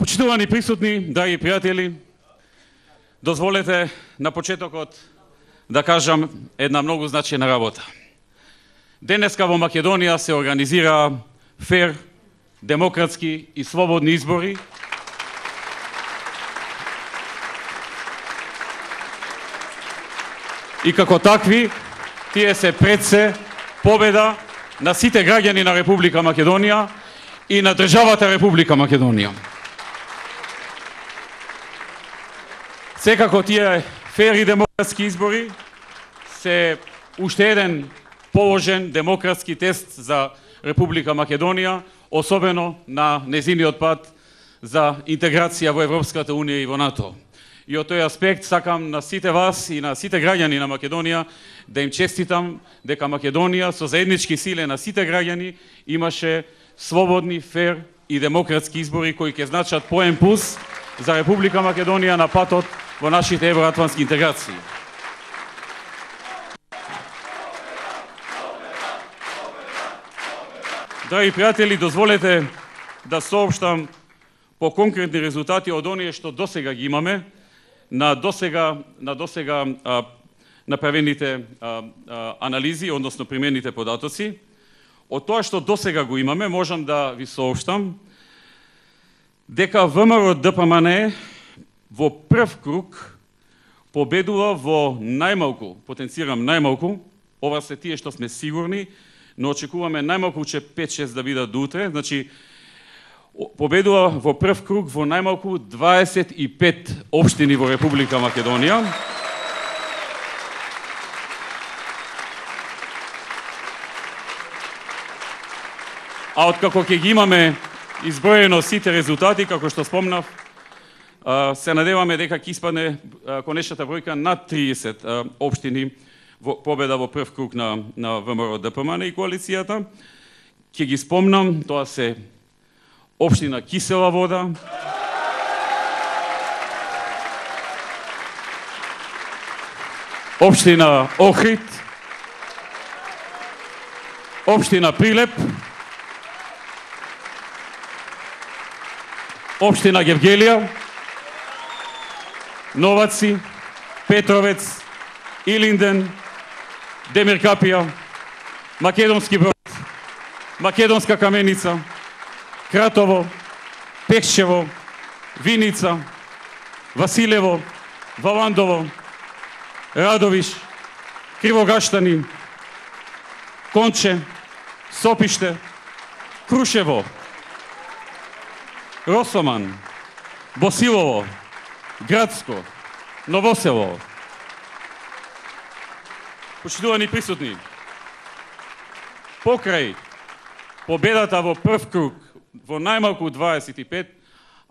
Почитувани присутни, драги пријатели, дозволете на почетокот да кажам една многу значајна работа. Денеска во Македонија се организира фер, демократски и слободни избори, и како такви, тие се пред се победа на сите граѓани на Република Македонија и на државата Република Македонија. Секако тие фер и демократски избори се уште еден положен демократски тест за Република Македонија, особено на незиниот пат за интеграција во Европската Унија и во НАТО. И од тој аспект сакам на сите вас и на сите граѓани на Македонија да им честитам дека Македонија со заеднички силе на сите граѓани имаше слободни, фер и демократски избори кои ќе значат поен пулс за Република Македонија на патот во нашите евроатлантски интеграции. Драги пријатели, дозволете да соопштам по конкретни резултати од оние што досега ги имаме на досега направените анализи, односно примените податоци. Од тоа што досега го имаме, можам да ви соопштам дека ВМРО-ДПМНЕ во прв круг победува во најмалку, потенцирам најмалку, ова се тие што сме сигурни, но очекуваме најмалку 5-6 да бидат до утре, значи победува во прв круг во најмалку 25 општини во Република Македонија. А откако ќе ги имаме изброено сите резултати, како што спомнав, се надеваме дека ќе испадне конечната бројка над 30 општини во победа во прв круг на ВМРО-ДПМНЕ и коалицијата. Ќе ги спомнам, тоа се општина Кисела Вода, општина Охрид, општина Прилеп, општина Гевгелија, Новаци, Петровец, Илинден, Демиркапија, Македонски Брод, Македонска Каменица, Кратово, Пекшево, Виница, Василево, Валандово, Радовиш, Кривогаштани, Конче, Сопиште, Крушево, Росоман, Босилово, Градско, Новосело. Почитувани присутни, покрај победата во прв круг во најмалку 25,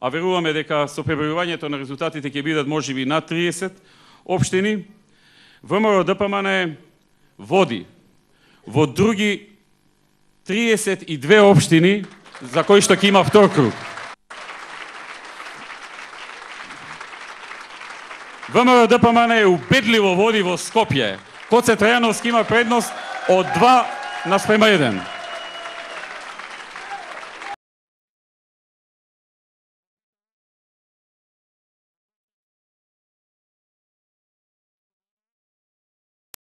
а веруваме дека со пребројувањето на резултатите ќе бидат можеби над 30 општини, ВМРО-ДПМНЕ води во други 32 општини за кои што ќе има втор круг. ВМРО-ДПМНЕ убедливо води во Скопје. Коце Трајановски има предност од 2:1.